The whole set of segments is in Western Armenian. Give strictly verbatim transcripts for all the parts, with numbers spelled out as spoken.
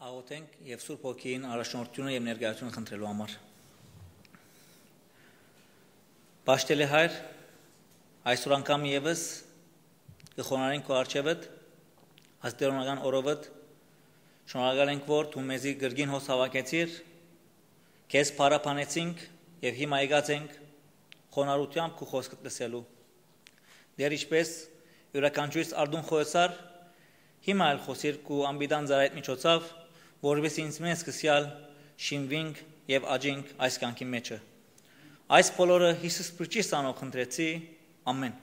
Աղոթենք եւ Սուրբ Հոգին առաջնորդությունը եւ ներկայությունը խնդրելու համար։ Պաշտելի Հայր, այսօր անգամ եւս կը խոնարհենք քո առջեւդ, աստերոնական օրովդ, շնորհակալ ենք, որ դու մեզի կրկին հոս հաւաքեցիր, քեզ փառաբանեցինք եւ հիմա եկած ենք խոնարհությամբ քու խօսքդ լսելու։ Դեր ինչպես իւրաքանչիւրս արդուն խօսար, հիմա ալ խօսիր քու անպիտան ծառայիդ միջոցով, որպեսզի ինձ մեզ սկսեալ շինվինք եւ աճինք այս կյանքի մեջը։ Այս բոլորը Յիսուս Փրկչի սանով խնդրեցի, ամեն։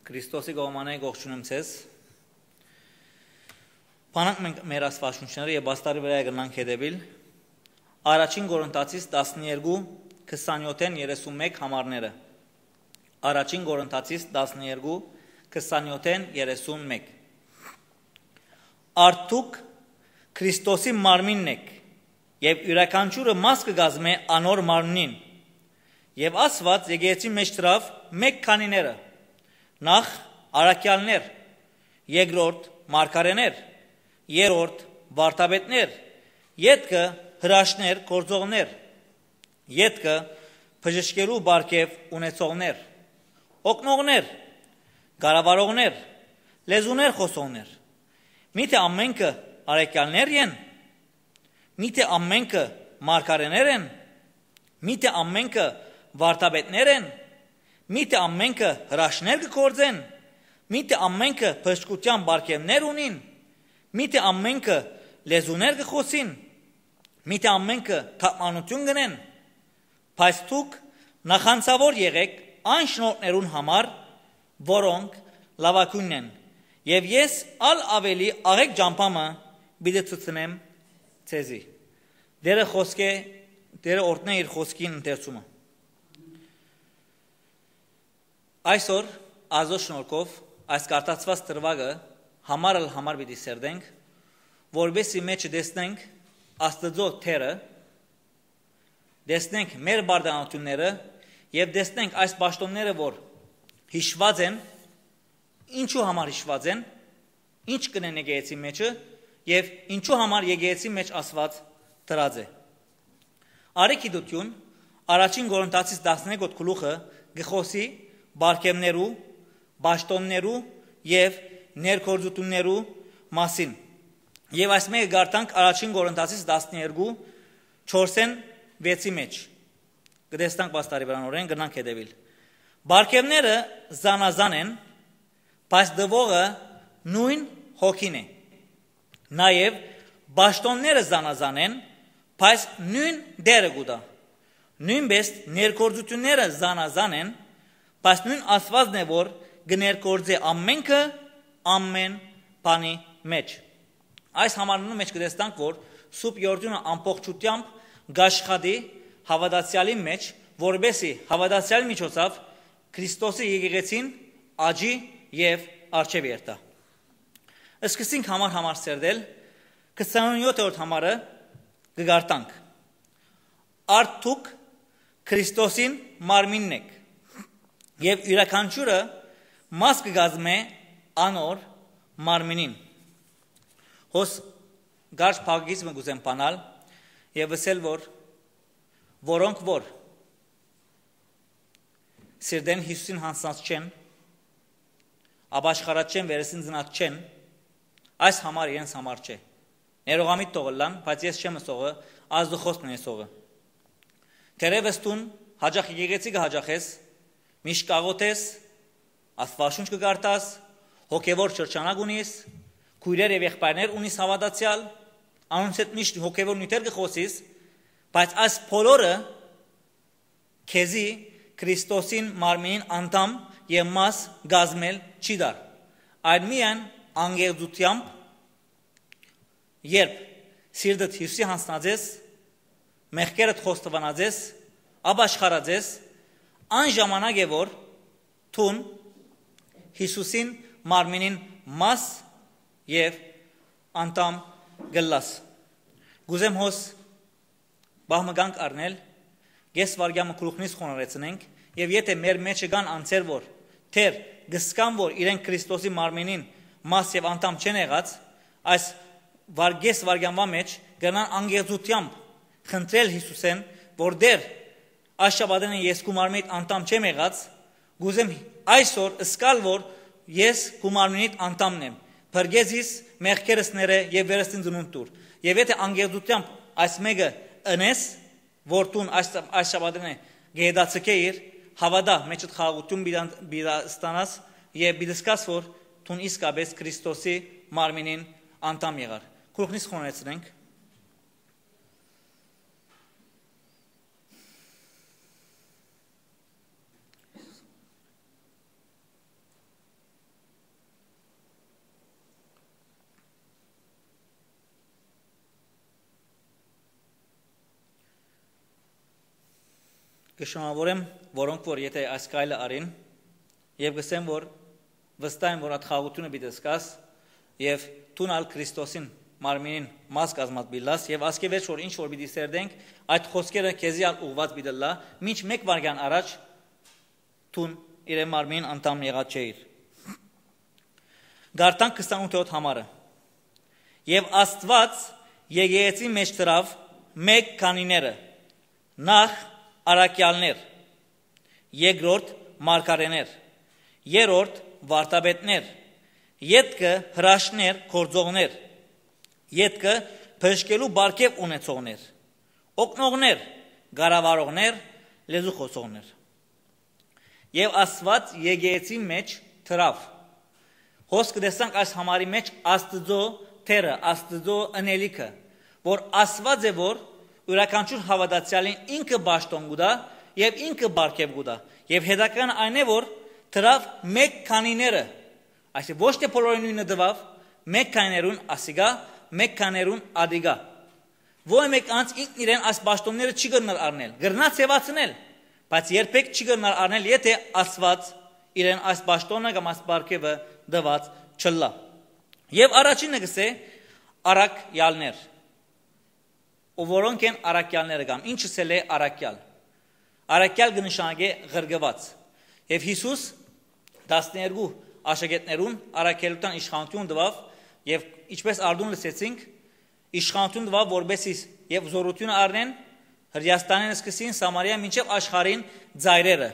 Քրիստոսի կողմանը ողջունեմ ձեզ։ Բանանք մենք մեր Աստուածաշունչները եւ պաստառի վրայ կրնանք հետեւիլ։ Առաջին Կորինթացիս տասներկու, քսանեթ երեսուն մէկ համարները։ Առաջին Կորինթացիս տասներկու, քսանեթ երեսուն մէկ։ Արդուք Քրիստոսի մարմինն եք, եւ իւրաքանչիւրը մաս կը կազմէ անոր մարմնին։ Եւ Աստուած եկեղեցի մէջ դրաւ մէկ քանիները, նախ առաքեալներ, երկրորդ մարգարէներ, երրորդ վարդապետներ, ետքը հրաշներ, գործողներ, ետքը բժշկելու պարգեւ ունեցողներ, օգնողներ, կառավարողներ, լեզուներ խօսողներ։ Միթէ ամենքը առաքեալներ են, միթէ ամենքը մարգարէներ են, միթէ ամենքը վարդապետներ են, միթէ ամենքը հրաշներ կը գործեն, միթէ ամենքը բժշկութեան պարգեւներ ունին, միթէ ամենքը լեզուներ կը խօսին, միթէ ամենքը թարգմանութիւն կ'ընեն, բայց դուք նախանձաւոր եղէք այն շնորհներուն համար, որոնք լաւագոյնն են, եւ ես ալ աւելի աղէկ ճամբամը պիտի ցցնեմ ձեզի։ Դերը խօսքէ, Դերը օրհնէ իր խօսքին ընթերցումը։ Այսօր, Աստուծոյ շնորհքով, այս կարտացուած դրուագը համար ալ համար պիտի սերտենք, որպեսզի մեջը տեսնենք Աստուծոյ դերը, տեսնենք մեր բարդանությունները եւ տեսնենք այս պաշտոնները, որ յիշուած են, ինչու համար յիշուած են, ինչ կ'ընեն եկեղեցի մեջը եւ ինչու համար եկեղեցի մէջ Աստուած դրած է։ Արի գիտութիւն, առաջին Կորինթացիս տասներկոյ գլուխը կը խօսի պարգեւներու, պաշտոններու եւ ներգործութիւններու մասին։ Եւ այս մէկը կարդանք առաջին Կորինթացիս տասներկու, չորսէն վեցի մէջ։ Կը տեսնանք պաստառի վրան, օրէն կրնանք հետեւիլ։ Պարգեւները զանազան են, բայց տուողը նոյն Հոգին է։ Նաեւ պաշտոնները զանազան են, բայց նոյն Տէրը կու տայ։ Նոյնպէս ներգործութիւնները զանազան են, բայց նոյն Աստուածն է, որ կը ներգործէ ամենքը, ամեն բանի մէջ։ Այս համարներուն մէջ կը տեսնանք, որ Սուրբ Յորդունը ամբողջութեամբ կ'աշխատի հաւատացեալին մէջ, որպեսզի հաւատացեալի միջոցով Քրիստոսի եկեղեցին աճի եւ առջեւ երթայ։ Սկսենք համար համար սերտել, քսանեթերորդ համարը կը կարդանք։ Արդ դուք Քրիստոսին մարմինն եք, եւ իւրաքանչիւրը մաս կը կազմէ անոր մարմինին։ Հոս կարճ փակագիծ մը կ'ուզեմ բանալ եւ ըսել, որ որոնք որ սիրտէն Յիսուսին յանձնած չեն, ապաշխարած չեն, վերստին ծնած չեն, այս համար իրենց համար չէ։ Ներողամիտ թող ըլլան, բայց ես չեմ ըսողը, Աստուծոյ խօսքն է ըսողը։ Թերեւս դուն յաճախ եկեղեցի կը յաճախես, միշտ կ'աղօթես, Աստուածաշունչ կը կարդաս, հոգեվոր շրջանակ ունիս, քոյրեր եւ եղբայրներ ունիս հաւատացեալ, անոնց հետ միշտ հոգեվոր նիւթեր կը խօսիս, բայց այս բոլորը քեզի Քրիստոսին մարմինին անդամ եւ մաս կազմել չի տար, այլ միայն անկեղծութեամբ, երբ սիրտդ Յիսուսի յանձնած ես, մեղքերդ խոստովանած ես, ապաշխարած ես, այն ժամանակ է, որ դուն Յիսուսին մարմինին մաս եւ անդամ կ'ըլլաս։ Կ'ուզեմ հոս պահ մը կանգ առնել, կես վայրկեան մը գլուխնից խոնարհեցնենք, եւ եթէ մեր մէջը կան անձեր, որ դեռ կ'ըսկան, որ իրենք Քրիստոսի մարմինին մաս եւ անդամ չեն եղած, այս վարկես վարքեանուան մէջ կրնան անկեղծութեամբ խնդրել Յիսուսէն, որ Տէր, այս շաբաթէն ես քու մարմինիդ անդամ չեմ եղած, կ'ուզեմ այսօր զգալ որ ես քու մարմինիդ անդամն եմ, փրկե զիս մեղքերս ներէ եւ վերստին ծնունդ տուր։ Եւ եթէ անկեղծութեամբ այս մէկը ընես, որ դուն այս, այս շաբաթէն է կը հետաձգէիր, հաւատա, մէջդ խաղաղութիւն պիտի ան-, պիտի ստանաս եւ պիտի զգաս որ դուն իսկապէս Քրիստոսի մարմինին անդամ եղար։ Գլուխնից խոնհեցնենք։ Կը շնորհաւորեմ, որոնք որ եթէ այս քայլը առին, եւ կ'ըսեմ որ վստահ եմ որ այդ խաղաղութիւնը պիտի զգաս, եւ դուն ալ Քրիստոսին մարմինին մաս կազմած պիտի ըլլաս, եւ ասկէ վերջ որ ինչ որ պիտի սերտենք, այդ խօսքերը քեզի ալ ուղղուած պիտի ըլլայ, մինչ մէկ վայրկեան առաջ դուն իրեն մարմինին անդամ եղած չէիր։ Գարտանք քսանութ համարը։ Եւ Աստուած եկեղեցին մէջ դրաւ մէկ քանիները, նախ առաքեալներ, երկրորդ մարգարէներ, երրորդ վարդապետներ, ետքը հրաշքներ գործողներ, ետքը բժշկելու պարգեւ ունեցողներ, օգնողներ, կառավարողներ, լեզու խօսողներ։ Եւ Աստուած եկեղեցին մէջ դրաւ։ Հոս կը տեսանք այս համարի մէջ Աստուծոյ դերը, Աստուծոյ ընելիքը, որ Աստուած է որ իւրաքանչիւր հաւատացեալին ինքը պաշտօն կու տայ եւ ինքը պարգեւ կու տայ։ Եւ հետաքրքրան այն է որ դրաւ մէկ քանիները, այսինքն ոչ թէ բոլորին նոյնը տուաւ, մէկ քանիներուն ասիկա, մէկ քանիներուն ադիկա։ Ոյ մէկ անձ ինքն իրեն այս պաշտօնները չի կրնար առնել, կրնայ ձեւացնել, բայց երբեք չի կրնար առնել, եթէ Աստուած իրեն այս պաշտօնը կամ այս պարգեւը տուած չըլլայ։ Եւ առաջինը կ'ըսէ առաքեալներ, ու որոնք են առաքեալները կամ ինչս էլ է առաքեալ։ Առաքեալ կը նշանակէ ղրկուած։ Եւ Յիսուս տասներկու աշակերտներուն առաքելութեան իշխանութիւն տուաւ, եւ ինչպէս արդուն լսեցինք, իշխանութիւն տուաւ որպէս զիս եւ զօրութիւնը առնեն Հրեաստանէն սկսին Սամարիա մինչեւ աշխարհին ծայրերը։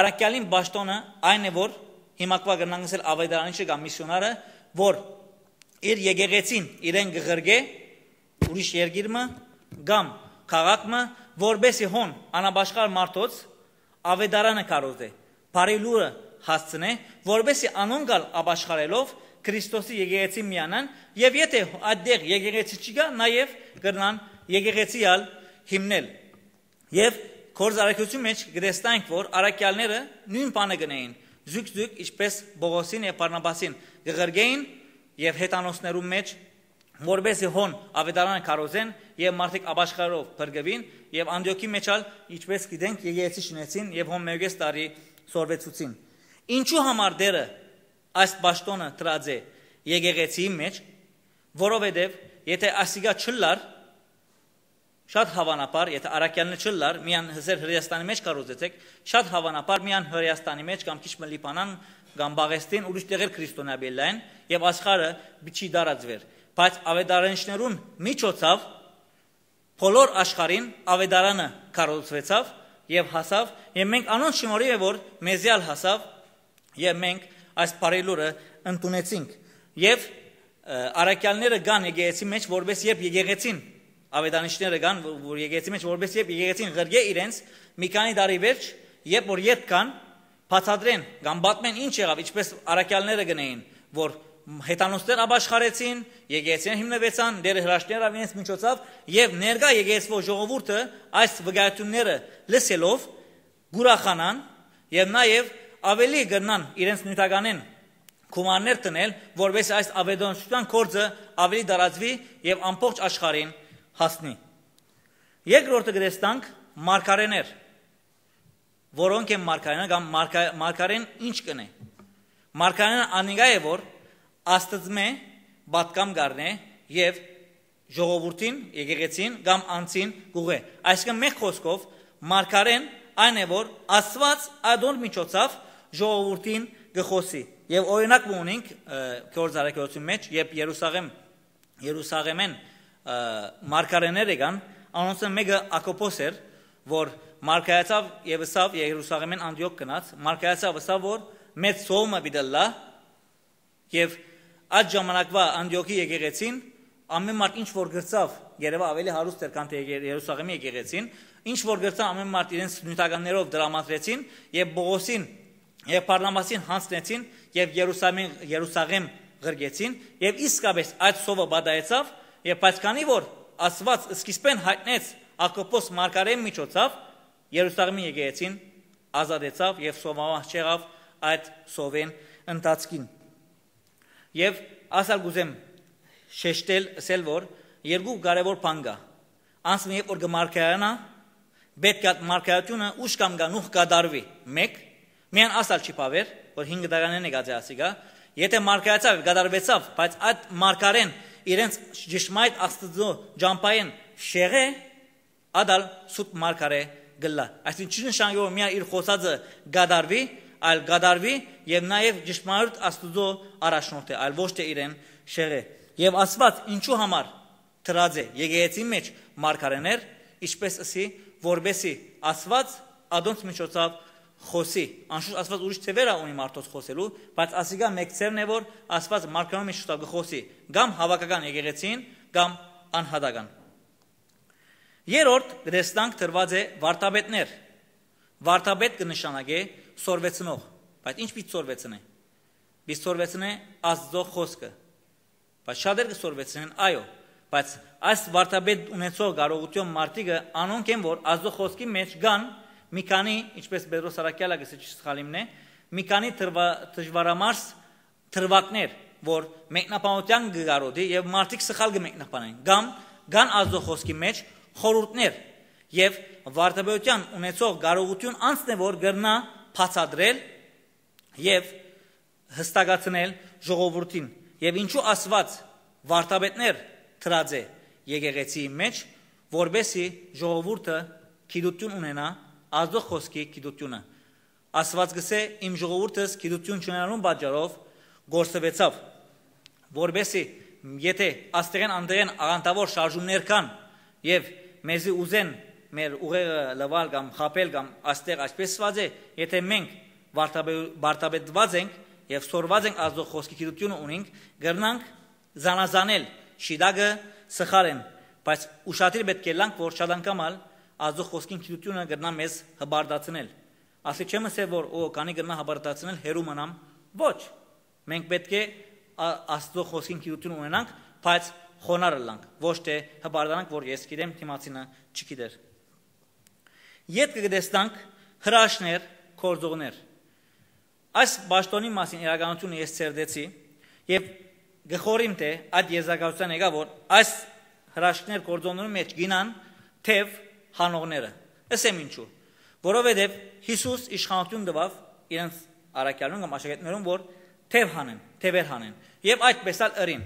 Առաքեալին պաշտօնը այն է որ հիմակվա կրնանք ըսել աւետարանիչը կամ միսիոնարը, որ իր եկեղեցին իրեն կը ղրկէ ուրիշ երկիր մը կամ քաղաք մը, որպէսի հոն անապաշխար մարդոց աւետարանը քարոզէ, բարի լուրը հասցնէ, որպէսի անոնք ալ ապաշխարելով Քրիստոսի եկեղեցին միանան, եւ եթէ այդտեղ եկեղեցի չկայ, նաեւ կրնան եկեղեցի ալ հիմնել։ Եւ Գործարարութիւնի մէջ կը տեսնենք որ առաքեալները նոյն բանը կ'ընէին, զուգ-զուգ ինչպէս Պողոսին եւ Բարնաբասին կը ղրկէին եւ հեթանոսներուն մէջ, որպէսի հոն աւետարանը քարոզեն եւ մարդիկ ապաշխարով փրկուին, եւ Անտիոքի մէջ ալ, ինչպէս գիտենք, եկեղեցի շինեցին եւ հոն մէկ տարի սորվեցուցին։ Ինչու համար Տէրը այս պաշտօնը դրած է եկեղեցիի մէջ, որովհետեւ եթէ ասիկա չըլլար, շատ հաւանաբար, եթէ առաքեալներ չըլլար, միան ըսեր Հրեաստանի մէջ քարոզեցէք, շատ հաւանաբար միան Հրեաստանի մէջ կամ քիչ մը Լիբանան կամ Պաղեստին, ուրիշ տեղեր քրիստոնեայ պիտի ըլլային եւ աշխարհը չի տարածուեր։ Բայց աւետարանիչներուն միջոցով բոլոր աշխարհին աւետարանը քարոզուեցաւ եւ հասաւ, եւ մենք անոնց շնորհիւ է որ մեզի ալ հասաւ, եւ մենք այս բարի լուրը ընդունեցինք։ Եւ, ը, առաքյալները կան եկեղեցի մէջ, որպես երբ եկեղեցին, աւետարանիչները կան, որ, որ եկեղեցի մէջ, որպես երբ եկեղեցին ղրկէ իրենց, մի քանի տարի վերջ, երբ որ ետ կան, բացատրեն կամ պատմեն ինչ եղաւ, ինչպես առաքյալները կ'ընէին, որ հեթանոսներ ապաշխարեցին, եկեղեցիներ հիմնուեցան, Տէրը հրաշքներ ըրաւ իրենց միջոցով, եւ ներկայ եկեղեցւոյ ժողովուրդը այս վկայությունները լսելով կ'ուրախանան եւ նաեւ աւելի կրնան իրենց նիւթականէն գումարներ դնել, որպէս այս աւետարանչութեան գործը աւելի տարածուի եւ ամբողջ աշխարհին հասնի։ Երկրորդը կը տեսնանք մարգարէներ, որոնք են մարգարէներ կամ մարգա-, մարգարէն ինչ կ'ընէ։ Մարգարէն անիկա է, որ Աստծմէ պատգամ կ'առնէ եւ ժողովուրդին, եկեղեցին կամ անձին կ'ուղղէ։ Այսինքն, մէկ խօսքով, մարգարէն այն է, որ Աստուած ադոր միջոցով ժողովուրդին կը խօսի։ Եւ օրինակ մը ունենք, ը, Գործարարութիւնի մէջ, երբ Երուսաղեմ Երուսաղէմէն, ը, մարգարէներ եկան, անոնցմէ մէկը Ակոպոս էր, որ մարգարեացաւ եւ ըսաւ, Երուսաղէմէն Անտիոք գնաց, մարգարեացաւ, ըսաւ, որ մեծ սովը պիտի ըլլայ, եւ այդ ժամանակվա Անտիոքի եկեղեցին, ամէն մարդ ինչ որ կրցաւ, երեւայ աւելի հարուստ էր, քան թէ Ե-, Երուսաղէմի եկեղեցին, ինչ որ կրցան, ամէն մարդ իրենց նիւթականներով դրամատրեցին եւ Պողոսին եւ Բարնաբասին յանձնեցին եւ Երուսաղէմ, Երուսաղէմ ղրկեցին, եւ իսկապէս այդ սովը պատահեցաւ, եւ բայց քանի որ Աստուած սկիզբէն յայտնեց Ակոպոս մարգարէի միջոցով, Երուսաղէմի եկեղեցին ազատեցաւ եւ սովամահ չեղաւ այդ սովին ընթացքին։ Եւ ասալ կ'ուզեմ շեշտել, ըսել, որ երկու կարեւոր բան կայ։ Անսմը երբ որ կը մարգարեանայ, պէտք է այդ մարգարեութիւնը ուշ կամ գանուխ կատարուի, մէկ, միայն ասալ չի բաւեր, որ հինգ դարան եկած է ասիկա, եթե մարգարեացաւ, կատարուեցաւ, բայց այդ մարգարեն իրենց ճշմարիտ Աստուծոյ ճամբայէն շեղէ, ատալ սուտ մարգարէ կ'ըլլայ։ Այսինքն չի նշանակի, որ միայն իր խօսածը կատարուի, այլ կատարուի եւ նաեւ ճշմարիտ Աստուծոյ առաջնորդէ, այլ ոչ թէ իրեն շեղէ։ Եւ Աստուած ինչու համար դրած է եկեղեցին մէջ մարգարէներ, ինչպես ըսի, որպեսի Աստուած ադոնց միջոցով խօսի։ Անշուշտ Աստուած ուրիշ ձեւեր ա ունի մարդոց խօսելու, բայց ասիկա մէկ ձեւն է, որ Աստուած մարգարէ միջոցով կը խօսի կամ հաւաքական եկեղեցին, կամ անհատական։ Երրորդ, կը տեսնանք, դրուած է վարդապետներ։ Վարդապետ կը նշանակէ սորվեցնող, բայց ինչ պիտի սորվեցնէ։ Պիտի սորվեցնէ Աստուծոյ խօսքը, բայց շատեր կը սորվեցնեն, այո, բայց այս վարդապետ ունեցող կարողութիւն մարդիկը անոնք են, որ Աստուծոյ խօսքի մէջ կան մի քանի, ինչպես Պետրոս Առաքեալը կը սի-, չի սխալիմն է, մի քանի դրվա-, դժվարամարս դրուագներ, որ մեկնաբանութեան կը կարոտի եւ մարդիկ սխալ կը մեկնաբանեն, կամ կան Աստուծոյ խօսքի մէջ խորհուրդներ, եւ վարդապետութեան ունեցող կարողութիւն անձն է, որ կրնայ բացատրել եւ յստակացնել ժողովուրդին, եւ ինչու Աստուած վարդապետներ դրած է եկեղեցիի մէջ, որպեսզի ժողովուրդը գիտութիւն ունենայ, Աստուծոյ խօսքի գիտութիւնը։ Աստուած կ'ըսէ. «Իմ ժողովուրդս գիտութիւն չունենալուն պատճառով կորսուեցաւ», որպեսզի եթե աստեղէն անդեղէն աղանդաւոր շարժումներ կան եւ մեզի ուզեն մեր ուղեղը լուալ կամ խաբել կամ աստեղ, այսպես ասած է, եթե մենք վարդապե-, վարդապետված ենք եւ սորված ենք, Աստուծոյ խօսքի գիտութիւնը ունենք, կրնանք զանազանել շիտակը սխալ են, բայց ուշադիր պէտք է ըլլանք, որ շատ անգամ ալ Աստուծոյ խօսքին գիտութիւնը կրնայ մեզ հպարտացնել։ Ասի չեմ ըսել, որ, օ, քանի կրնայ հպարտացնել, հեռու մնամ։ Ոչ։ Մենք պէտք է ա-, Աստուծոյ խօսքին գիտութիւն ունենանք, բայց խոնարհ ըլլանք, ոչ թէ հպարտանանք, որ ես գիտեմ, դիմացինը չգիտեր։ Ետքը կը տեսնանք հրաշքներ, գործողներ։ Այս պաշտոնի մասին իրականությունը ես ցերտեցի եւ կը խորհեմ, թէ այդ եզրակացութեան եկայ, որ այս հրաշքներ, գործողներու մէջ կ'իյնան թեւ հանողները։ Ըսեմ ինչու։ Որովհետեւ Յիսուս իշխանութիւն տուաւ իրենց առաքեալուն կամ աշակերտներուն, որ թեւ հանեն, թեւեր հանեն, եւ այդպես ալ ըրին։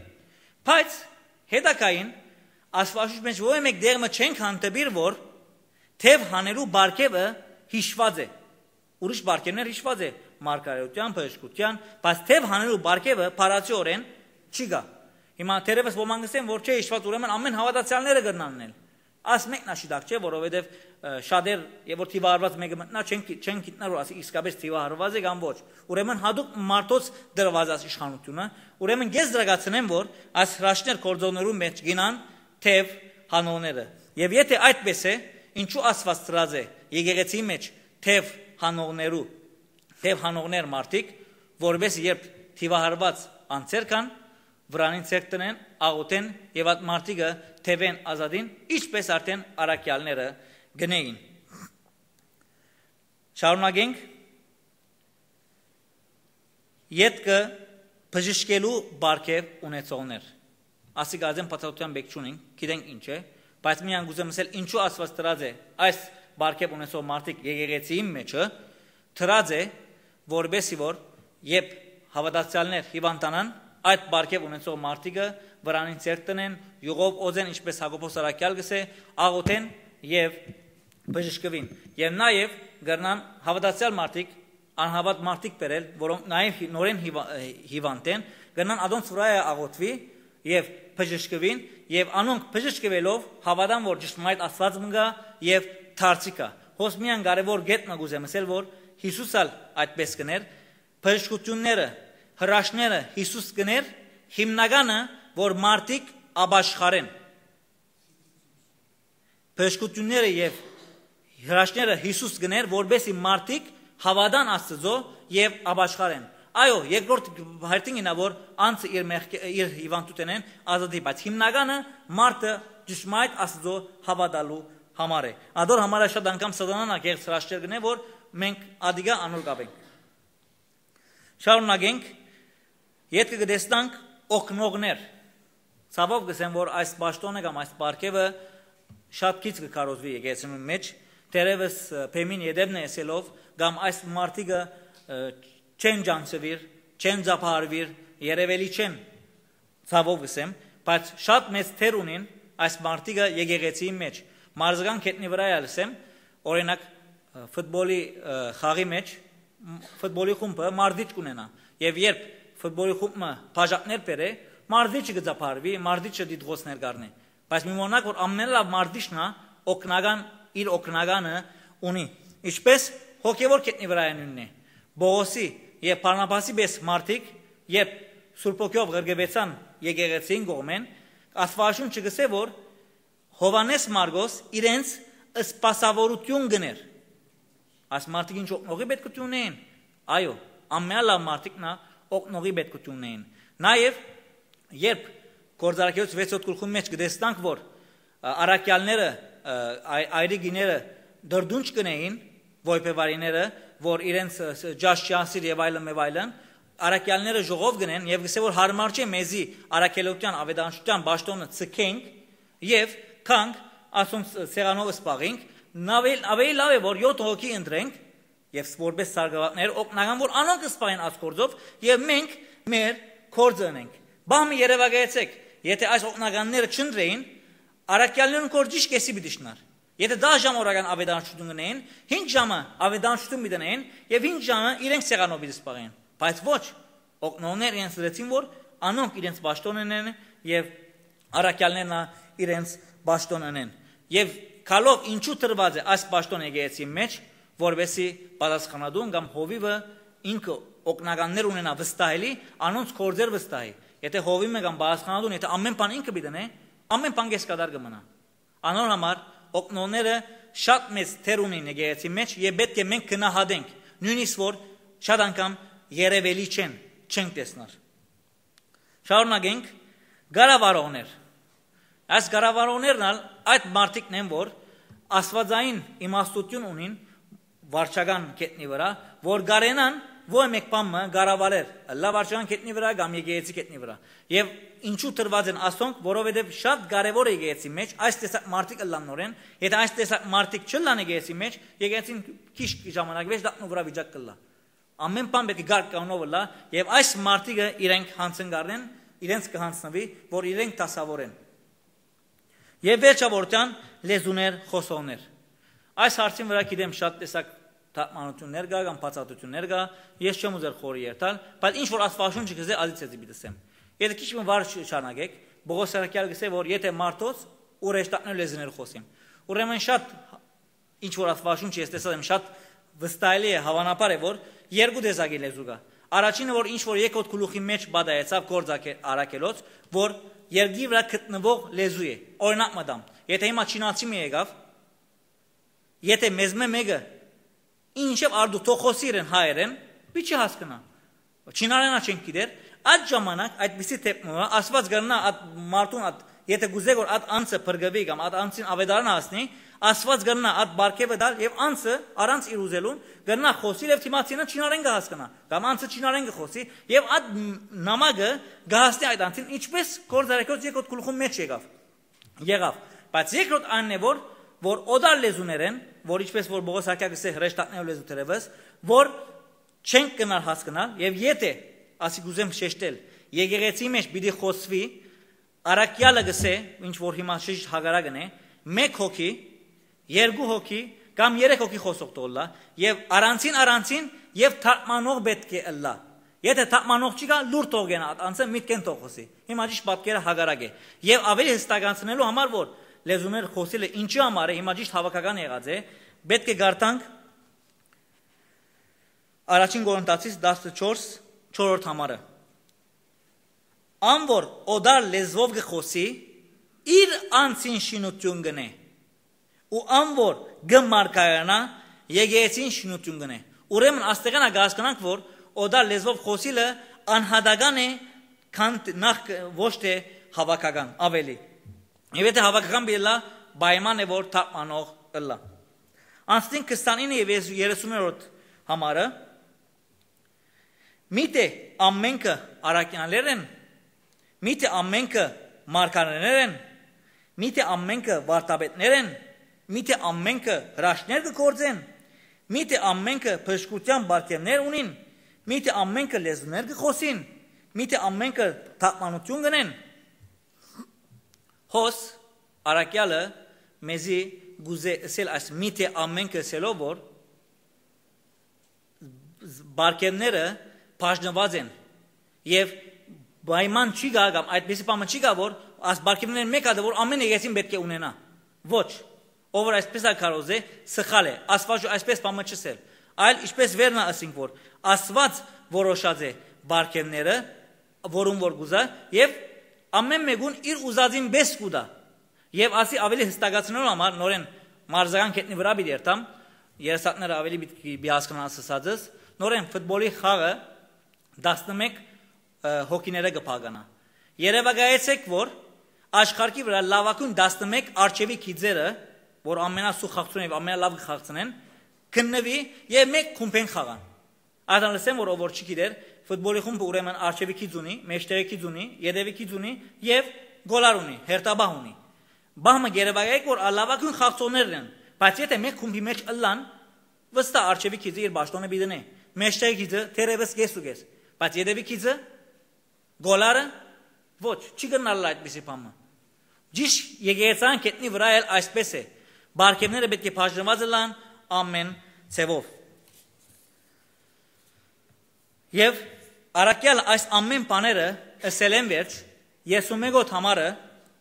Բայց հետագային Աստուածաշունչ մէջ որեւէ մէկ տեղ մը չենք հանդիպիր, որ թեւ հանելու պարգեւը յիշուած է։ Ուրիշ պարգեւներ յիշուած է, մարգարէութեան, բժշկութեան, բայց թեւ հանելու պարգեւը փառացիորեն չի գայ։ Հիմա թերեւս ոմանք կ'ըսեն, որ չէ, յիշուած, ուրեմն ամէն հաւատացեալները կրնան ընել։ Աս մեկն ա շիտակ չէ, որովհետեւ, ը, շատեր, եւ որ թիվահարուած մէկը մտնայ, չեն գի-, չեն գիտնար, որ ասի իսկապէս թիվահարուած է կամ ոչ։ Ուրեմն յատուկ մարդոց դրուած այս իշխանութիւնը, ուրեմն ես դրակացնեմ, որ այս հրաշքներ գործողներու մէջ կ'իյնան թեւ հանողները։ Եւ եթե այդպես է, ինչու Աստուած դրած է եկեղեցիի մէջ թեւ հանողներու, թեւ հանողներ մարդիկ, որովհետեւ երբ թիվահարուած անձեր կան, վրանին ձեռք տնեն, աղօթեն եւ այդ մարդիկը թեւեն ազատին, ինչպես արդեն առաքեալները կ'ընէին։ Շարունակենք։ Ետքը բժշկելու պարգեւ ունեցողներ։ Ասիկա, ասեմ, բացատրութեան պէտք չունին, գիտենք ինչ է, բայց միայն կ'ուզեմ ըսել, ինչու Աստուած դրած է այս պարգեւ ունեցող մարդիկ եկեղեցիին մէջը, դրած է, որպեսի որ երբ հաւատացեալներ հիւանդանան, այդ պարգեւ ունեցող մարդիկը վրանին ձեռք տնեն, յուղով օծեն, ինչպես Յակոբոս առաքեալ կ'ըսէ, աղօթեն եւ բժշկուին։ Եւ նաեւ կրնան հաւատացեալ մարդիկ, անհաւատ մարդիկ բերել, որոնք նաեւ հի-, նորէն հիվա-, հիվանդ են, կրնան ադոնց վրայ աղօթուի եւ բժշկուին, եւ անոնք բժշկուելով հաւատան որ ճշմարիտ Աստուած մը կայ եւ դարձի կայ։ Հոս միայն կարեւոր կետ մը կ'ուզեմ ըսել, որ Յիսուս ալ այդպես կ'ընէր, բժշկութիւնները, հրաշքները Յիսուս կ'ընէր, հիմնականը, որ մարդիկ ապաշխարեն։ Բժշկութիւնները եւ հրաշքները Յիսուս կ'ընէր, որպէս զի մարդիկ հաւատան Աստուծոյ եւ ապաշխարեն։ Այո, երկրորդ հերթին ինա որ անձը իր մեղք-, իր հիվանդութենէն ազատի, բայց հիմնականը մարդը ճշմարիտ Աստուծոյ հաւատալու համար է։ Ադոր համար է շատ անգամ Սատանան ա գեղձ հրաշքներ կ'ընէ, որ մենք ադիկա անոր կ'ապենք։ Շարունակենք, ետքը կը տեսնանք օգնողներ։ Ցաւով կ'ըսեմ, որ այս պաշտոնը կամ այս պարգեւը շատ քիչ կը քարոզուի եկեղեցիներուն մէջ, թերեւս, ը, բեմին ետևն է ըսելով, կամ այս մարդիկը, ը, չեն ճանչցուիր, չեն ծափահարուիր, երեւելի չեն, ցաւով կ'ըսեմ, բայց շատ մեծ դեր ունին այս մարդիկը եկեղեցիի մէջ, մարզական գետնի վրայ ալ ըսեմ, օրինակ, ը, ֆուտբոլի, ը, խաղի մէջ, մ-, ֆուտբոլի խումբը մարզիչ կ'ունենայ, եւ երբ ֆուտբոլի խումբը բաժակներ բերէ, մարզիչը կը ծափահարուի, մարզիչը դիտողներ կ'առնէ, բայց մի մոռնանք որ ամենալաւ մարզիչն ա, օգնական, իր օգնականը ունի, ինչպես հոգեվոր գետնի վրայ նոյնն է։ Պողոսի եւ Բարնաբասի պէս մարդիկ, երբ Սուրբ Հոգիով ղրկուեցան եկեղեցին կողմէն, Աստուածաշունչը կ'ըսէ, որ Յովհաննէս Մարկոս իրենց սպասաւորութիւն կ'ընէր։ Այս մարդիկ ինչ օգնողի պետքութիւն ունէին։ Այո, ամենալաւ մարդիկն ա օգնողի պետքութիւն ունէին։ Նաեւ, երբ Գործառաքելոց վեցերորդ գլխուն մէջ կը տեսնանք, որ, ը, առաքեալները, ը, այ-, այրի գիները դրդունջ կ'ընէին, ոյբեվարիները, որ իրենց, ը, ս-, ճաշ չի անսիր եւ այլն, եւ այլն, առաքեալները ժողով կ'ընեն եւ կ'ըսէ, որ յարմար չէ մեզի առաքելութեան, աւետարանչութեան պաշտոնը ձգենք եւ գանք ասոնց սեղանով սպաղենք, նաւել-, ավելի լաւ է, որ յոթ հոգի ընտրենք եւ ս-, որպես սարկաւատներ օգնական, որ անոնք սպաղեն այս գործով եւ մենք մեր գործը ընենք։ Բահ մը երեւակայեցէք, եթե այս օգնականները չընտրեին, առաքյալներուն գործ ճիշտ կեսի պիտի շնար։ Եթե դա ժամ օրական աւետարանչութիւն կ'ընէին, հինգ ժամը աւետարանչութիւն պիտի ընէին եւ հինգ ժամը իրենք սեղանով պիտի սպաղեն։ Բայց ոչ, օգնողներ իրենց դրեցին, որ անոնք իրենց պաշտոնը ընեն եւ առաքյալներն ալ իրենց պաշտոնը ընեն։ Եւ գալով ինչու տրուած է այս պաշտոնը եկեղեցի մէջ, որպեսզի պատասխանատուն կամ հովիվը ինքը օգնականներ ունենայ վստահելի, անոնց գործեր վստահի։ Եթե հովիվը կամ պատասխանատուն, եթե ամէն բան ինքը պիտի ընէ, ամէն բան կես կատար կը մնայ։ Անոր համար օգնողները շատ մեծ դեր ունին եկեղեցի մէջ եւ պէտք է մենք գնահատենք, նոյնիսկ որ շատ անգամ երեւելի չեն, չենք տեսնար։ Շարունակենք, կառավարողներ։ Այս կառավարողներն ալ այդ մարդիկն են, որ աստուածային իմաստութիւն ունին վարչական գետնի վրայ, որ կարենան ոյ մէկ բան մը կառավարել, ըլլայ վարչական գետնի վրայ կամ եկեղեցի գետնի վրայ։ Եւ ինչու տրուած են ասոնք, որովհետեւ շատ կարեւոր է եկեղեցի մէջ այս տեսակ մարդիկ ըլլան նորեն, եթե այս տեսակ մարդիկ չըլլան եկեղեցի մէջ, եկեղեցին քիչ ժամանակ վեճ դակնու վրայ վիճակ կ'ըլլայ։ Ամէն բան պէտք է կարգ կանոնով ըլլայ, եւ այս մարդիկը իրենք յանցն կ'առնեն, իրենց կ'յանցնուի, որ իրենք դասաւորեն։ Եւ վերջավորութեան, լեզուներ խօսողներ։ Այս հարցին վրայ գիտեմ շատ տեսակ թարգմանութիւններ կայ կամ բացատրութիւններ կայ, ես չեմ ուզեր խորը երթալ, բայց ինչ որ Աստուածաշունչը կ'ըսէ, ադի ձեզի պիտի ըսեմ։ Եթե քիչ մը վար չ-, շարունակեք, Պողոս առաքեալ կ'ըսէ, որ եթե մարդոց ու հրեշտակներու լեզուներ խօսիմ, ուրեմն շատ ինչ որ Աստուածաշունչը ես տեսած եմ, շատ վստահելի է, հաւանաբար է, որ երկու տեսակի լեզու կայ։ Առաջինը, որ ինչ որ երկրորդ գլուխի մէջ պատահեցաւ գործ ակե-, առաքելոց, որ երկրի վրայ գտնուող լեզու է։ Օրինակ մը տամ, եթե հիմա չինացի մը եկաւ, եթե մեզմէ մէկը, ինչեւ արդու թող խօսի իրեն հայերէն, պիտի չի հասկնայ։ Չինարենա չենք գիտեր, այդ ժամանակ այդպիսի դեպքում Աստուած կրնայ այդ մարդուն, այդ, եթե կուզէ որ այդ անձը փրկուի կամ այդ անձին աւետարան հասնի, Աստուած կրնայ այդ պարգեւը տալ եւ անձը առանց իր ուզելուն կրնայ խօսիլ եւ դիմացինը չինարեն կը հասկնայ, կամ անձը չինարեն կը խօսի եւ այդ ն-, նամակը կը հասնի այդ անձին, ինչպես գործ առաքելոց երկրորդ գլուխուն մէջ եկաւ, եղաւ։ Բայց երկրորդ այն է, որ, որ օտար լեզուներեն, որ ինչպես որ Պողոս առաքեալ կ'ըսէ հրեշտակներու լեզու թերեւս, որ չենք կրնար հասկնալ, եւ եթե, ասի կ'ուզեմ շեշտել, եկեղեցի մէջ պիտի խօսուի, առաքեալը կ'ըսէ, ինչ որ հիմա շիշ հակառակն է, մէկ հոգի, երկու հոգի կամ երեք հոգի խօսող թող ըլլայ, եւ առանձին, առանձին եւ թարգմանող պէտք է ըլլայ, Եթէ թափմանող չի գա, լուր թող գնայ, անցը միտքեն թող խօսի։ Հիմա ճիշդ պատկերը հակառակ է։ Եւ աւելի յստակացնելու համար, որ լեզուներ խօսիլը ինչի համար է, հիմա ճիշդ հաւաքական եղած է, պէտք է կարդանք առաջին Կորինթացիս տասնչորս, չորրորդ համարը։ «Ան որ օտար լեզուով կը խօսի, իր անձին շինութիւն կ'ընէ, ու ան որ կը մարգարանայ, եկեղեցին շինութիւն կ'ընէ»։ Ուրեմն, աստեղէն ա կը հասկնանք, որ օտար լեզուով խօսիլը անհատական է, քան տ-, նախ կ-, ոչ թէ հաւաքական, աւելի։ Եւ եթէ հաւաքական պիտի ըլլայ, պայման է, որ թափմանող ըլլայ։ Անցնենք քսանինը եւ երեսուններորդ համարը։ «Միթէ ամենքը առաքեալներ են, միթէ ամենքը մարգարեներ են, միթէ ամենքը վարդապետներ են, միթէ ամենքը հրաշքներ կը գործեն, միթէ ամենքը բժշկութեան պարգեւներ ունին, միթէ ամենքը լեզուներ կը խօսին, միթէ ամենքը թարգմանութիւն կ'ընեն»։ Հոս առաքեալը մեզի կ'ուզէ ըսել այս «միթէ ամենքը» ըսելով, որ պարգեւները բաժնուած են եւ պայման չի գա կամ այդպիսի պայման չի գա, որ այս պարգեւներէն մէկ հատը, որ ամեն եկեղեցին պէտք է ունենայ։ Ոչ, ով որ այսպես ա քարոզե, սխալ է, Աստուած այսպես պայման չըսել, այլ ինչպես վերնա ըսինք, որ Աստուած որոշած է պարգեւները, որուն որ կ'ուզայ, եւ ամեն մէկուն իր ուզածին պէս կու տայ։ Եւ ասի աւելի յստակացնելու համար նորէն մարզական գետնի վրայ պիտի երթամ, երեսակները աւելի պիտի, պիտի հասկնան ասածս, նորէն ֆուտբոլի խաղը տասնմէկ, ը, հոգիները կը փականայ։ Երեւակայեցէք, որ աշխարհի վրայ լաւագոյն տասնմէկ արջեւի գիծերը, որ ամենասուղ խաղցուն եւ ամենալաւ կը խաղցնեն, քննուի եւ մէկ խումբեն խաղան։ Ատան լսեմ, որ ով որ չի գիտեր, ֆուտբոլի խումբը ուրեմն արջեւի գիծ ունի, մեջտեղի գիծ ունի, ետեւի գիծ ունի եւ գոլար ունի, հերթապահ ունի։ Պահ մը երեւակայեք, որ լաւագոյն խաղցողներն են, բայց եթէ մէկ խումբի մէջ ըլլան, վստահ արջեւի գիծը իր պաշտօնը պիտի դնէ, մեջտեղի գիծը թերեւս կես ու կես, բայց ետեւի գիծը, գոլարը, ոչ, չի կրնար ըլլալ այդպիսի բան մը։ Ճիշդ եկեղեցական գետնի վրայ էլ այսպես է։ Պարգեւները պէտք է բաժնուած ըլլան ամեն ձեւով։ Եւ առաքեալ այս ամեն բաները ըսելէն վերջ, երեսունմեկոյդ համարը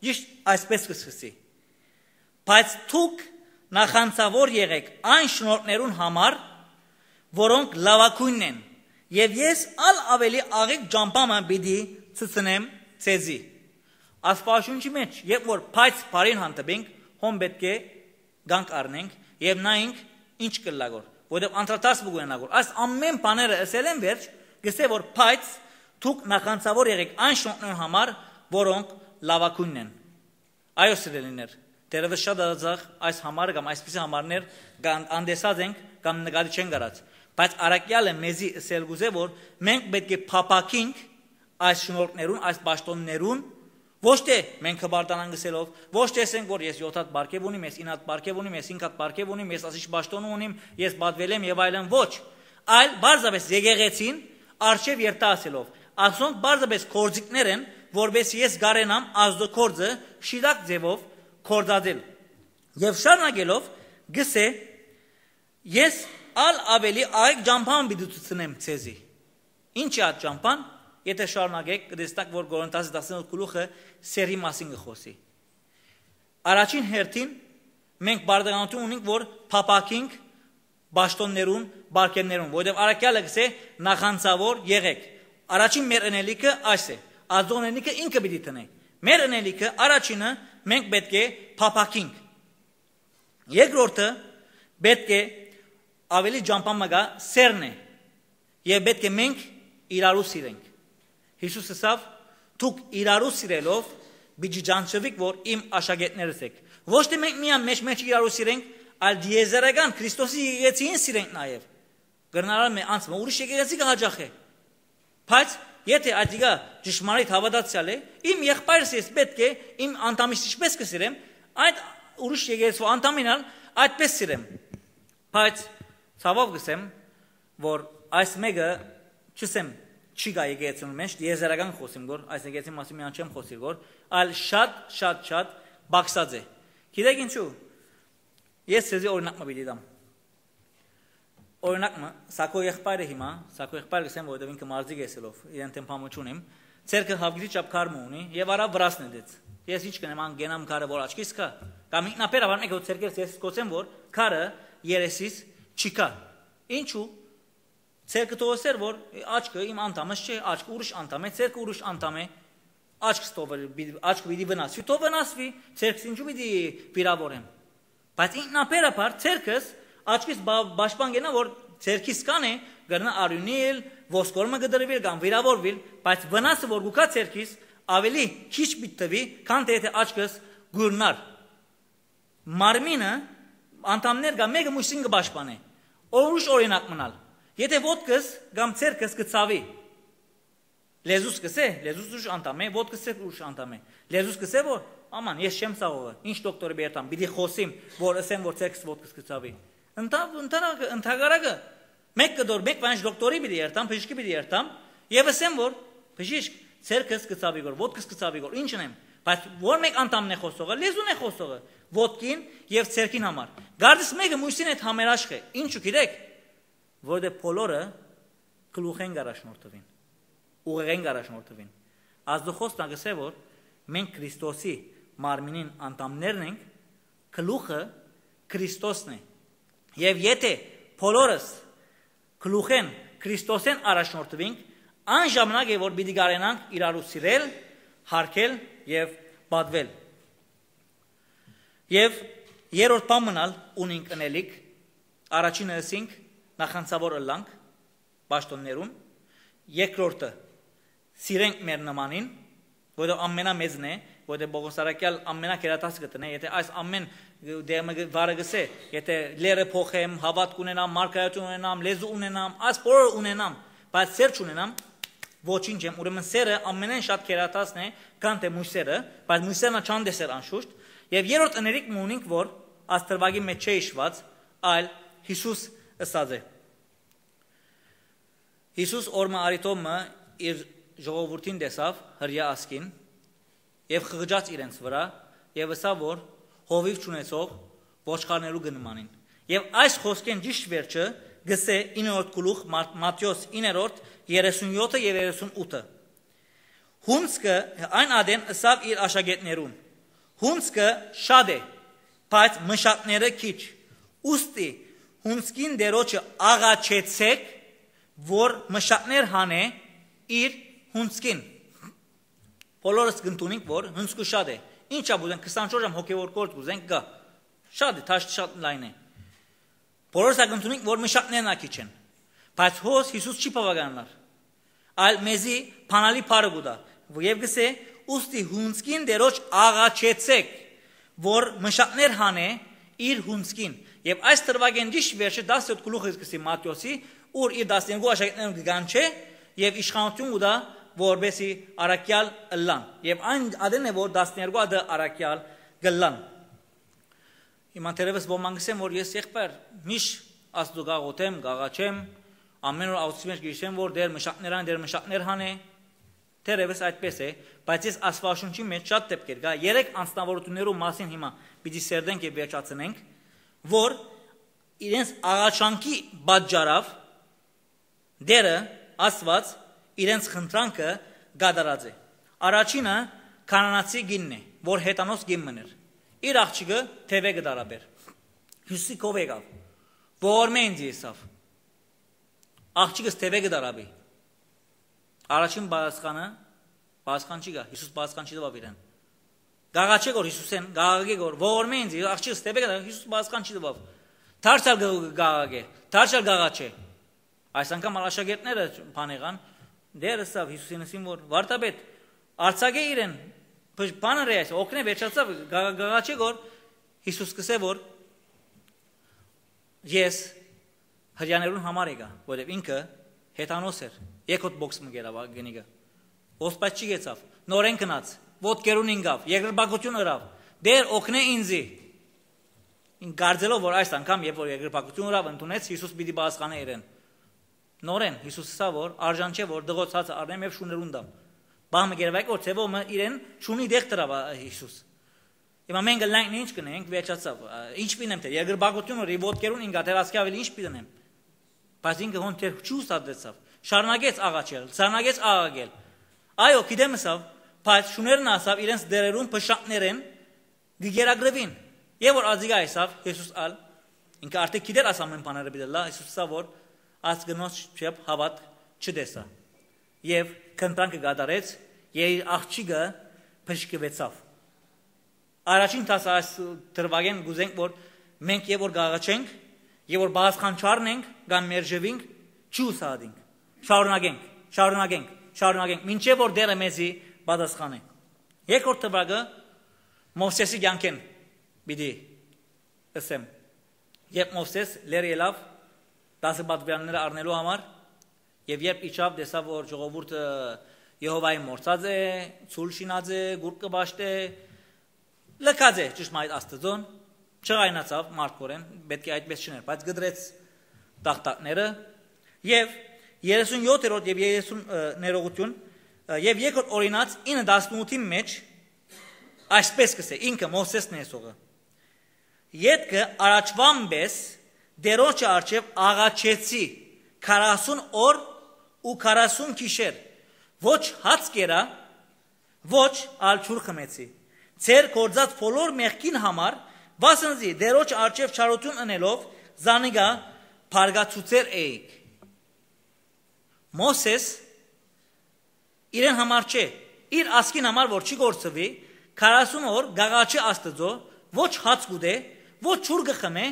ճիշդ այսպես կը սկսի. «Բայց դուք նախանձաւոր եղէք այն շնորհքներուն համար, որոնք լաւագոյնն են, եւ ես ալ աւելի աղիք ճամբայ մը պիտի ցցնեմ ձեզի»։ Աստուածաշունչի մէջ, երբ որ «բայց» բառին հանդիպենք, հոն պէտք է կանգ առնենք եւ նայենք ինչ կ'ըլլայ գոր, որովհետեւ անդրադարձ պիտի ունենայ գոր։ Այս ամեն բաները ըսելէն վերջ, կ'ըսէ որ «բայց դուք նախանձաւոր եղէք այն շնորհքներուն համար, որոնք լաւագոյնն են»։ Այո, սիրելիներ, դեռեւս շատ ածախ այս համարը կամ այսպիսի համարներ կան, անտեսած ենք կամ նկատի չեն կարած, բայց առաքեալը մեզի ըսել կ'ուզէ, որ մենք պէտք է փափաքինք այս շնորհքներուն, այս պաշտոններուն, ոչ թէ մենք հպարտանանք ըսելով, ոչ թէ ասենք, որ ես յոթ հատ պարգեւ ունիմ, ես ինը հատ պարգեւ ունիմ, ես հինգ հատ պարգեւ ունիմ, ես ասիչ պաշտոն ունիմ, ես պատվել եմ եւ այլն, ոչ, այլ պարզապէս եկեղեցին առջեւ երթայ ասելով, ասոնք պարզապէս գործիքներ են, որպէս ես կարենամ ազդու գործը շիտակ ձեւով գործածել։ Եւ շարունակելով, գսե. «Ես ալ աւելի աղիք ճամբան պիտի ցուցնեմ ձեզի»։ Ինչ է այդ ճամբան, եթէ շարունակեք, կտեսնաք, որ Կորինթացի տասնութ գլուխը սերի մասին կը խօսի։ Առաջին հերթին մենք պարտականութիւն ունենք, որ փափաքինք պաշտոններուն, պարգեւներուն, որովհետեւ առաքեալը կսե. «Նախանձաւոր եղեք»։ Առաջին մեր ընելիքը այս է, ազդողն ընելիքը ինքը պիտի տնէ։ Մեր ընելիքը առաջինը մենք պէտք է փափաքինք։ Երկրորդը պէտք է ավելի ճամբան մը գայ սերն է, եւ պէտք է մենք իրարու սիրենք։ Յիսուս ըսաւ. «Դուք իրարու սիրելով պիտի ճանչնաք, որ իմ աշակերտներս էք»։ Ոչ թէ մենք միայն մեջ-մեջ իրարու սիրենք, այլ դիեզերական Քրիստոսի եկեղեցին սիրենք նաեւ։ Կրնար մէ անց մը ուրիշ եկեղեցի կը հաճախէ։ Բայց եթէ ատիկա ճշմարիտ հաւատացեալ է, իմ եղբայրս ես պէտք է իմ անդամիս ինչպես կը սիրեմ, այդ ուրիշ եկեղեցու անդամին ալ այդպես սիրեմ։ Բայց ցաւով կ'ըսեմ, որ այս մէկը, չ'ըսեմ, չի գայ եկեղեցուն մէջ, եզերական խօսիմ գոր, այս եկեղեցին մասին միան չեմ խօսիր գոր, այլ շատ, շատ, շատ պակսած է։ Գիտեք ինչու։ Ես ձեզի օրինակ մը պիտի տամ։ Օրինակ մը, սա քո եղբայրը հիմա, սա քո եղբայրը, կ'ըսեմ, որովհետեւ ինքը մարզիկ է ըսելով, իրեն դէմ բան չունիմ, ձեռքը հաւկիցի չափ քար մը ունի եւ առաւ վրաս նետեց։ Ես ի՞նչ կ'ընեմ, ան կ'ընեմ քարը որ աչքիս կայ, կամ ինքնաբեր աւար մէկը որ ձեռքերս ես կ'ըսեմ որ քարը երեսիս չի կայ։ Ինչու՞։ Ձեռքը թողսեր որ աչքը իմ անդամս չէ, աչքը ուրիշ անդամ է, ձեռքը ուրիշ անդամ է, աչքս թող վր-, պի-, աչքը պիտի վնասուի, թող վնասուի, ձեռքս ինչու պիտի վիրավորեմ։ Բայց ինքնաբերաբար ձեռքս, աչքիս բա-, պաշտպան կենայ որ ձեռքիս կանէ, կրնայ արիւնիլ, ոսկոր մը կը դրուիլ կամ վիրավորուիլ, բայց վնասը որ կու գայ ձեռքիս, աւելի քիչ պիտի թուի, քան թէ եթէ աչքս կուրնար։ Մարմինը, անդամներ կայ, մէկը մյուսին կը պաշտպանէ։ Ուրիշ օրինակ մնալ։ Եթէ ոտքս կամ ձեռքս կը ցաւի, լեզուս կ'ըսէ, լեզուս ուրիշ անդամ է, ոտքս ուրիշ անդամ է։ Լեզուս կ'ըսէ որ, աման, ես չեմ ցաւողը, ինչ դոկտորի պէ երթամ, պիտի խօսիմ, որ ըսեմ որ ձեռքս ոտքս կը ցաւի։ Ընթա-, ընդհանրակը, ընդհակառակը, մէկ կտոր, մէկ վանջ դոկտորի պիտի երթամ, բժիշկի պիտի երթամ, եւ ըսեմ որ, բժիշկ, ձեռքս կը ցաւի գոր, ոտքս կը ցաւի գոր, ի՞նչ ընեմ, բայց ո՞ր մէկ անդամն է խօսողը, լեզուն է խօսողը, ոտքին եւ ձեռքին համար։ Գարդիս մէկը մյուսին հետ համերաշխ է, ինչու գիտեք, որովհետեւ բոլորը գլուխէն կ'առաջնորդուին, ուղեղէն կ'առաջնորդուին։ Աստուծոյ Խոստը կ'ըսէ որ մենք Քրիստոսի մարմինին անդամներն ենք, գլուխը Քրիստոսն է։ Եւ եթէ բոլորս գլուխէն Քրիստոսէն առաջնորդուինք, այն ժամանակ է որ պիտի կարենանք իրարու սիրել, հարգել եւ պատվել։ Եւ երրորդ բան մնալ ունինք ընելիք, առաջինը ըսինք նախանցաւոր ըլլանք պաշտոններուն, երկրորդը սիրենք մեր նմանին, որովհետեւ ամենամեծն է, որովհետեւ Պողոս առաքյալ ամենագերատասը կը տնէ, եթէ այս ամեն դերմը վարը գսե, եթէ լերը փոխեմ, հաւատք ունենամ, մարգարեություն ունենամ, լեզու ունենամ, այս բոլորը ունենամ, բայց սեր չունենամ, ոչինչ եմ, ուրեմն սերը ամենէն շատ գերատասն է, քան թէ մույսերը, բայց մույսերն ալ չան տեսեր անշուշտ, եւ երրորդ ընելիք մը ունինք, որ Աստղրվագի մեջ չէ իշված, այլ Յիսուս ըսած է։ Յիսուս օրը մը արիթով մը իր ժողովուրդին տեսաւ, հրեայ ազգին, եւ խղճաց իրենց վրայ, եւ ըսաւ որ հովիւ չունեցող ոչխարներու կը նմանին։ Եւ այս խօսքէն ճիշտ վերջը գսէ իններորդ գլուխ Մա-, Մատթէոս իններորդ երեսունյոթը եւ երեսունութը։ Հունձքը այն ատեն ըսաւ իր աշակերտներուն. «Հունձքը շատ է, բայց մշակները քիչ։ Ուստի հունձքին դերոջը աղաչեցէք, որ մշակներ հանէ իր հունձքին»։ Բոլորս կ'ընդունենք որ հունձքը շատ է։ Ինչա՞ ուզենք, քսանչորս ժամ հոգեոր գործ ուզենք, գայ։ Շատ է, թաշ շատ լայն է։ Բոլորս ա կ'ընդունենք որ մշակներն ա քիչ են։ Բայց հոս Յիսուս չի բաւականանար, այլ մեզի բանալի բառը կու տայ, եւ գսէ. «Ուստի հունձքին դերոջ աղաչեցէք, որ մշակներ հանէ իր հունձքին»։ Եւ այս դրուագէն ճիշտ վերջը տասնյոթ գլուխը կ'ըսի Մատթէոսի, ուր իր տասներկու աշակերտներուն կը կանչէ եւ իշխանութիւն կու տայ, որպեսի առաքեալ ըլլան։ Եւ այն ատեն է որ տասներկու ատը առաքեալ կ'ըլլան։ Հիմա թերեւս ոմանք կ'ըսեն որ ես եղբայր միշտ Աստուծոյ կ'աղօթեմ, կ'աղաչեմ, ամեն օր աղօթքի մեջ կ'հիշեմ որ Տէր մշակներ ան, Տէր մշակներ հանէ, թերեւս այդպես է, բայց ես Աստուածաշունչի մեջ շատ դեպքեր կայ, երեք անձնավորություններու մասին հիմա պիտի սերտենք եւ վերջացնենք, որ իրենց աղաչանքի պատճառով Տէրը, Աստուած, իրենց խնդրանքը կատարած է։ Առաջինը քանանացի կինն է, որ հեթանոս կին մըն էր։ Իր աղջիկը թեւէ կը տարապէր։ Յիսուսի քով եկաւ։ «Ողորմէ ինձի», ըսաւ։ Աղջիկս թեւէ կը տարապի։ Առաջին պատասխանը, պատասխան չի գայ, Յիսուս պատասխան չի տուաւ իրեն։ Կ'աղաչէ գոր Յիսուսէն, կ'աղաչէ գոր, «Ողորմէ ինձի», աղջիկս թեւէ կը տարապի, Յիսուս պատասխան չի տուաւ։ Դարձյալ կը-, կ'աղաչէ, դարձյալ կ'աղաչէ։ Այս անգամ ալ աշակերտները բան եղան, Տէր ըսաւ Յիսուսին ըսին որ. «Վարդապետ, արձակէ իրեն, բ-, բան ըրե այս, օգնէ», վերջացաւ, գա-, գաղաչէ գոր, Յիսուս կ'ըսէ որ. «Ես հրեաներուն համար եկայ», որովհետեւ ինքը հեթանոս էր, երկրորդ բոքս մը կերաւ ա-, գնիկը։ Ոսպած չի գեցաւ, նորէն գնաց, ոտքերուն ինկաւ, երկրպագություն ըրաւ. «Տէր, օգնէ ինձի»։ Ինք կարծելով որ այս անգամ, երբ որ երկրպագություն ըրաւ, ընդունեց, Յիսուս պիտի պատասխանէ իրեն։ Նորէն Յիսուս ըսաւ որ արժան չէ որ դղոց հացը առնեմ եւ շուներուն տամ։ Բահ մը գերվայ որ ձեւով մը իրեն չունի դեղ դրաւ, ա, Յիսուս։ Հիմա մենք ըլլանք ինչ կնենք, վերջացաւ։ Ա, ինչ պիտի ընեմ, թէ երկրպագություն ըրի, ոտքերուն ինկա, թեր ասկի աւելի ինչ պիտի ընեմ։ Բայց ինքը հոն դեռ չի ուսադրեցաւ։ Շարունակեց աղաչել, շարունակեց աղաղակել։ Այո, գիտեմ ըսաւ, բայց շուներն ասաւ իրենց դերերուն փշակներեն կը գերագրուին։ Եւ որ ազիգա եսաւ Յիսուս ալ, ինքը արդեն գիտեր աս ամեն բաները պիտի լա, Յիսուս ըսաւ որ աս կնոջ չեփ հաւատ չտեսա։ Եւ կնտանքը կատարեց, եւ իր աղջիկը բժշկուեցաւ։ Առաջին դաս այս դրուագէն կ'ուզենք որ մենք եւ որ կաղաչենք, եւ որ բաշխան չառնենք, կամ մերժուինք, չի ուսահատինք։ Շարունակենք, շարունակենք, շարունակենք, մինչեւ որ Տերը մեզի պատասխանէ։ Երկրորդ դրուագը Մովսէսի կեանքէն պիտի ըսեմ։ Երբ Մովսէս լեռ ելաւ դասը պատուիրանները առնելու համար, եւ երբ իջաւ, տեսաւ որ ժողովուրդը Եհովային մորցած է, ցուլ շինած է, գուրգ կը պաշտէ, լքած է ճշմարիտ Աստծուն, չղայնացաւ մարդկորեն, պէտք է այդպես չըներ, բայց կտրեց տախտակները, եւ երեսունյոթերորդ եւ երեսուն, ը, ներողություն, ը, եւ երկրորդ Օրինաց ինը տասնութին մէջ այսպես կ'ըսէ, ինքը Մովսէսն է եսողը. «Ետքը առաջուան պէս Տերոջը առջեւ աղաչեցի քառասուն օր ու քառասուն գիշեր, ոչ հաց կերա, ոչ ալ ջուր խմեցի։ Ձեր գործած բոլոր մեղքին համար, վասն զի Տերոջ առջեւ չարություն ընելով, զանիկա բարգացուցեր էիք»։ Մովսէս իրեն համար չէ, իր ազգին համար որ չի գործուի, քառասուն օր գաղաչի Աստծո, ոչ հաց կուտէ, ոչ ջուր կը խմէ,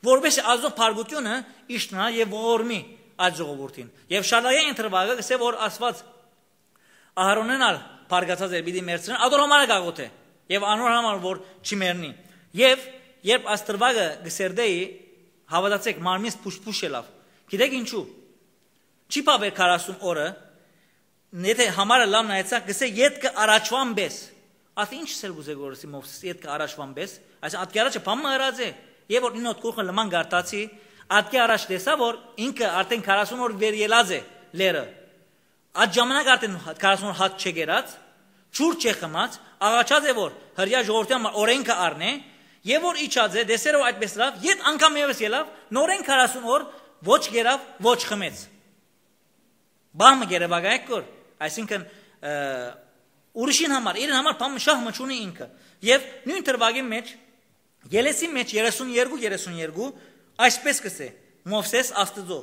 որպեսզի Աստծո բարգությունը իջնայ եւ ողորմի այդ ժողովուրդին։ Եւ շարունակեն ընտրուակը կսե որ Աստված Ահարոնեն ալ բարգացած էր, պիտի մեռցնեն, ատոր համար է գաղութ է, եւ անոր համար որ չի մեռնի։ Եւ երբ Աստռուակը կսերտեի, հաւատացեք, մարմինս փուշ-փուշ ելաւ։ Գիտեք ինչու։ Չի բաւեր քառասուն օրը, եթե համարը լավ նայեցաք, կսե ետքը առաջվան պէս։ Ասի, ինչ սել կուզե գորսի Մովսես ետքը առաջվան պէս, այսինքն ատկի առաջը բան մը ըրած է, եւ որ ինոտ կուխը լման գարտացի, ատկի առաջ տեսա որ ինքը արդեն քառասուն օր վեր ելած է լերը։ Այդ ժամանակ արդեն քառասուն օր հաց չե գերած, ջուր չե խմած, աղաչած է որ հրեա ժողովրդի համար օրենքը առնե, եւ որ իջած է, դեսերը որ այդպես լավ, յետ անգամ եւս ելավ, նորեն քառասուն օր ոչ գերավ, ոչ խմեց։ Բահ մը գերեվագայեք կոր, այսինքն, ը, ուրիշին համար, իրեն համար բան շահ մը չունի ինքը։ Եւ նոյն դրուագին մեջ, Ելեսին մեջ երեսուն երկու, երեսուն երկու, այսպես կսե. «Մովսես Աստծո,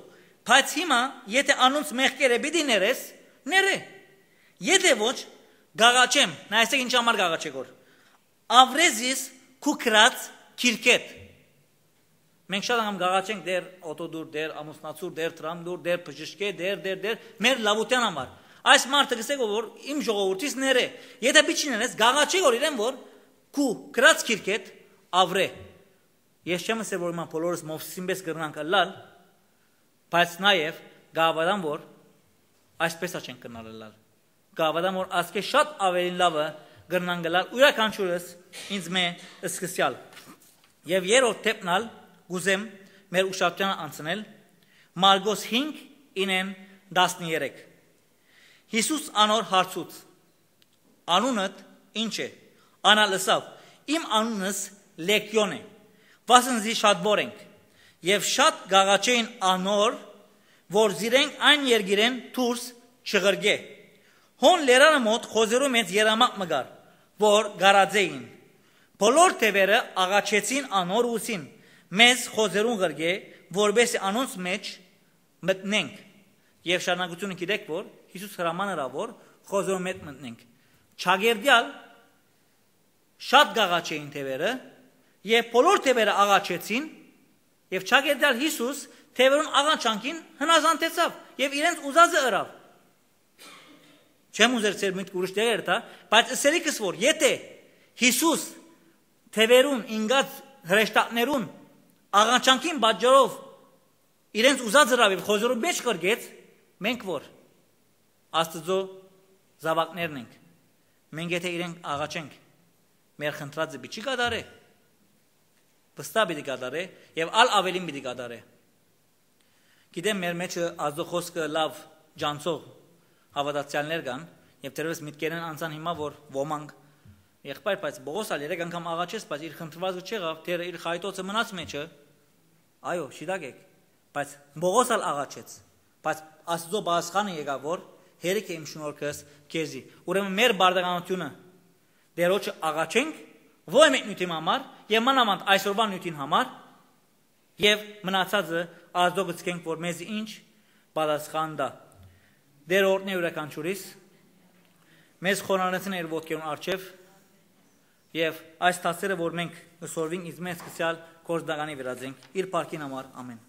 բայց հիմա, եթե անոնց մեղքերը պիտի ներես, ներե։ Եթե ոչ, գաղաչեմ», նայեցեք ինչ համար գաղաչե գոր։ «Ավրե զիս քու գրած քիրքետ»։ Մենք շատ անգամ գաղաչենք դեր օտոդուր, դեր ամուսնացուր, դեր տրամդուր, դեր բժշկէ, դեր, դեր, դեր, մեր լավութեան համար։ Այս մարդը կսե գոր որ իմ ժողովուրդիս ներե։ Եթե պիտի ներես, գաղաչե գոր իրեն որ քու գրած քիրքետ ավրե։ Ես չեմ ասել որ հիմա բոլորս Մովսեսին պես կրնանք ըլլալ, բայց նաեւ գավադան որ այսպես ա չենք կրնալ ըլլալ։ Գավադան որ ասկէ շատ ավելին լավը կրնանք ըլլալ յուրաքանչյուրս ինձ մէ սկսյալ։ Եւ երրորդ դեպքն ալ կուզեմ մեր ուշադրութեան անցնել Մարկոս հինգ, ինեն տասներեք։ Յիսուս անոր հարցուց. «Անունդ ի՞նչ է»։ Ան ալ ըսաւ. «Իմ անունս Լեգիոն է, վասն զի շատվոր ենք»։ Եւ շատ գաղաչէին անոր, որ զիրենք այն երկիրեն դուրս չղրկէ։ Հոն լերանը մոտ խոզերու մեծ երամակ մը կար, որ գարած էին։ Բոլոր թևերը աղաչեցին անոր ու ուսին. «Մեզ խոզերուն ղրկէ, որպեսզի անոնց մեջ մտնենք»։ Եւ շարունակությունը գիտեք որ Յիսուս հրաման ըրաւ որ խոզերուն մեջ մտնենք։ Չակերտեալ շատ գաղաչեին թևերը, եւ բոլոր թևերը աղաչեցին, եւ չակերտեալ Յիսուս թևերուն աղաչանքին հնազանդեցաւ եւ իրենց ուզածը ըրաւ։ Չեմ ուզեր ձեր միտքը ուրիշ տեղեր տա, բայց ըսելիքս որ եթե Յիսուս թևերուն ինգած հրեշտակներուն աղաչանքին պատճառով իրենց ուզած ըրաւ եւ խոզերու մեջ ղրկեց, մենք որ Աստծո զաւակներն ենք, մենք եթե իրենք աղաչենք, մեր խնդրածը պիտի չի կատարե, վստահ պիտի կատարե եւ ալ ավելին պիտի կատարե։ Գիտեմ, մեր մեջը Աստծո խոսքը լավ ջանցող հաւատացյալներ կան, եւ թերեւս միտքերեն անցան հիմա որ ոմանք, «Եղբայր, բայց Պողոս ալ երեք անգամ աղաչեց, բայց իր խնդրվածը չեղավ, դերը իր խայտոցը մնաց մեջը»։ Այո, շիտակ եք, Բայց Պողոս ալ աղաչեց, բայց Աստուծոյ պատասխանը եկաւ որ. «Հերիք է իմ շնորհքս քեզի»։ Ուրեմն մեր պարտականութիւնը Տէրոջը աղաչենք, ո-, մէկ նիւթին համար եւ մանաւանդ այսօրուան նիւթին համար, եւ մնացածը Աստուծոյ գցկենք որ մեզի ինչ պատասխան տայ։ Տէրը օրհնէ իւրաքանչիւրիս, մեզ խոնարհեցնէ իր ոտքերուն առջեւ, եւ այս դասերը որ մենք կ'ըսորվինք, ինձ մեզ սկսեալ գործնականի վրայ զենք, իր փառքին համար, ամէն։